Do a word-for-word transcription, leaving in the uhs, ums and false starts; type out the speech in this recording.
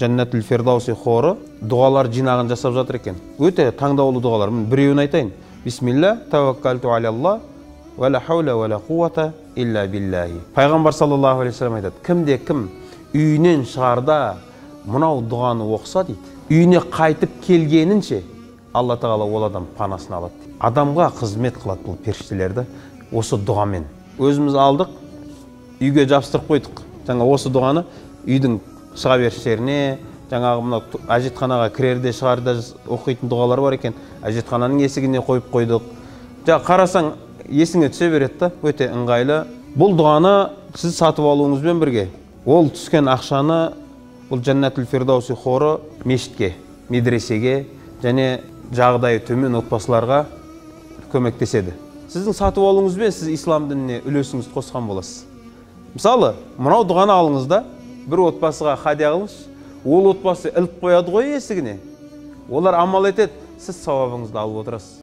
Жаннатул Фирдауси хору дуалар жинагын жасап жатыр экен. Өтө таңдаулуу дуалар. Мен бирөөнү айтайын. Бисмилла, таваккалту алаллах, ва ла хаула ва ла куввата илля биллахи. Пайгамбар саллаллаху алейхи вассалам айтат: кимде ким үйүнөн чыгарда мынау дуаны окуса дейт, үйүнө кайтып келгенинче Алла Таала ол адам панасын алат. Адамга кызмет кылат бул периштелер да. Осы дуамен өзүбүз алдык, үйгө жабыстырып койдук. Жаңа осы дуаны үйдүн чыга бериштерине, жаңагы мына ажетканага кирерде чыгарда окуйтун дуалар бар экен. Ажеткананын эсигине коюп койдук. Жа карасаң эсиңе түшө берет да, өтө ыңгайлы. Бул дуаны сиз сатып алууңуз менен бирге, ол түшкөн акчаны бул Жаннатул Фирдауси хору мешитке, медресеге жана жагдайы төмөн отбасыларга көмөктөшөдү. Сиздин сатып алууңуз менен сиз ислам динине үлөсүңүздү коскон болосуз. Мисалы, мынау дуаны алыңыз да, бир отбасыга хадия кылыңыз. Ол отбасы илип коёду го эсигине. Олар амал этет, сиз савабыңызды алып отурасыз.